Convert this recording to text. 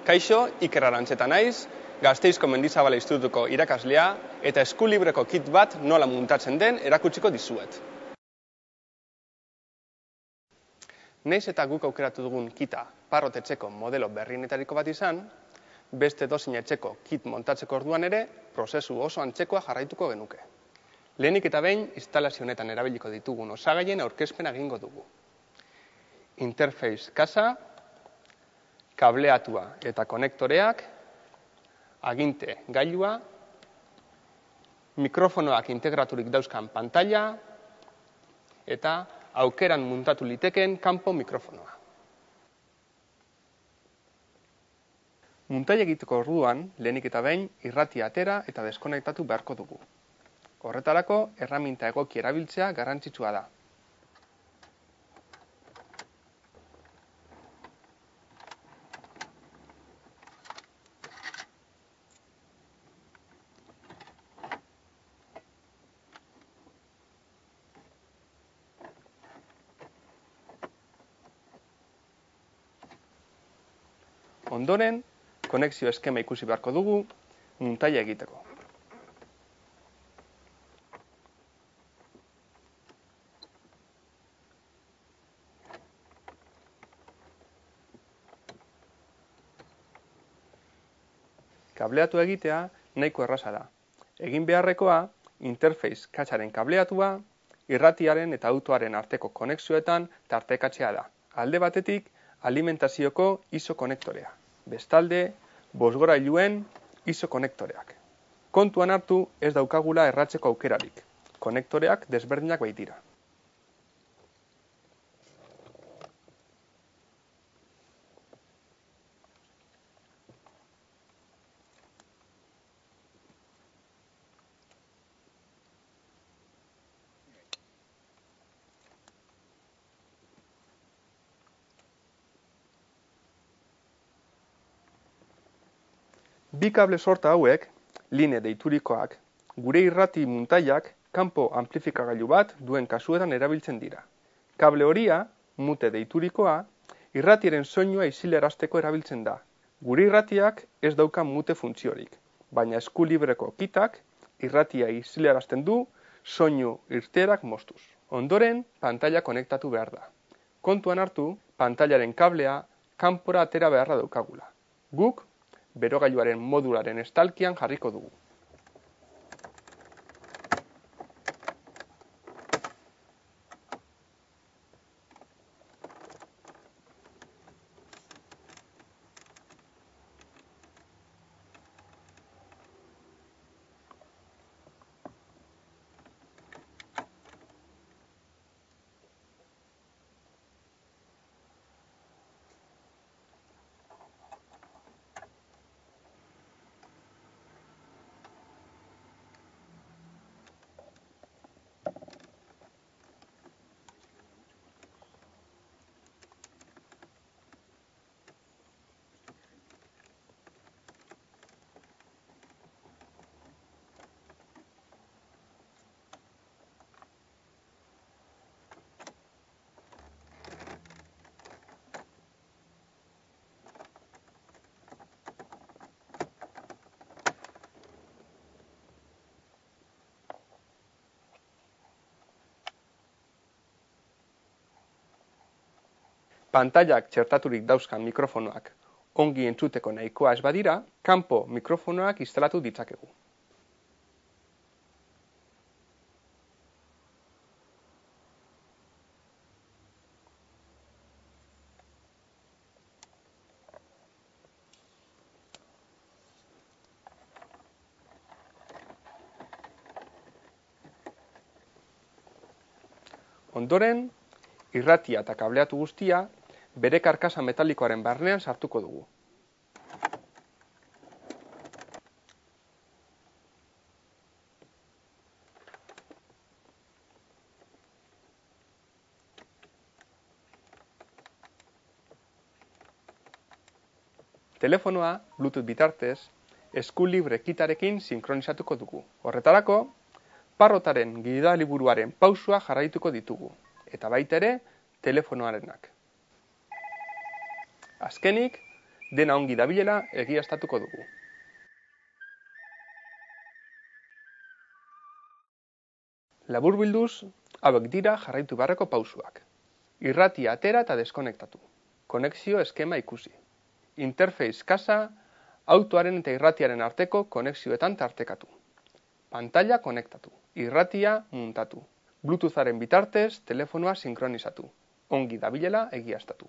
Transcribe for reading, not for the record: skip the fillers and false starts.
Kaixo, Iker Arantzeta naiz, Gasteizko Mendizabal Institutuko irakaslea eta eskulibreko kit bat nola muntatzen den erakutsiko dizuet. Naiz eta guk aukeratu dugun kita parrot etxeko modelo berrienetariko bat izan, beste edozein etxeko kit montatzeko orduan ere, prozesu oso antzekoa jarraituko genuke. Lehenik eta behin, instalazio honetan erabiliko ditugun osagaien aurkezpena egingo dugu. Interface kasa, kableatua eta konektoreak, aginte gailua, mikrofonoak integraturik dauzkan pantalla eta aukeran muntatu liteken kanpo mikrofonoa. Muntaia egiteko orduan, lehenik eta behin, irratia atera eta deskonektatu beharko dugu. Horretarako, erreminta egoki erabiltzea garrantzitsua da. Ondoren, konexio eskema ikusi beharko dugu muntaia egiteko. Kableatu egitea nahiko erraza da. Egin beharrekoa, interface katsaren kableatua, irratiaren eta autoaren arteko konexioetan tartekatzea da. Alde batetik, alimentazioko ISO konektorea. Bestalde, bozgorailuen ISO konektoreak. Kontuan hartu ez daukagula erratzeko aukerarik. Konektoreak desberdinak baitira. Bi kable sorta hauek, line deiturikoak, gure irrati muntaiak kanpo amplifikagailu bat duen kasuetan erabiltzen dira. Kable horia, mute deiturikoa, irratiaren soinua isilarazteko erabiltzen da. Gure irratiak ez dauka mute funtziorik, baina eskulibreko kitak irratia isilarazten du soinu irteerak moztuz. Ondoren, pantalla konektatu behar da. Kontuan hartu, pantailaren kablea kanpora atera beharra daukagula. Guk, berogailuaren modularen estalkian jarriko dugu. Pantailak txertaturik dauzkan mikrofonoak ongi entzuteko nahikoa ez badira, kanpo mikrofonoak instalatu ditzakegu. Ondoren, irratia eta kableatu guztia bere karkasa metalikoaren barnean sartuko dugu. Telefonoa, Bluetooth bitartez, eskulibre kitarekin sinkronizatuko dugu. Horretarako, parrotaren gidaliburuaren pausua jarraituko ditugu, eta baita ere, telefonoarenak. Azkenik, Dena ongi dabilela egiaztatuko dugu. Laburbilduz, hauek dira jarraitu beharreko pausuak. Irratia atera eta deskonektatu. Konexio eskema ikusi. Interface kasa, autoaren eta irratiaren arteko konexioetan tartekatu. Pantalla konektatu. Irratia muntatu. Bluetootharen bitartez telefonoa sinkronizatu. Ongi dabilela egiaztatu.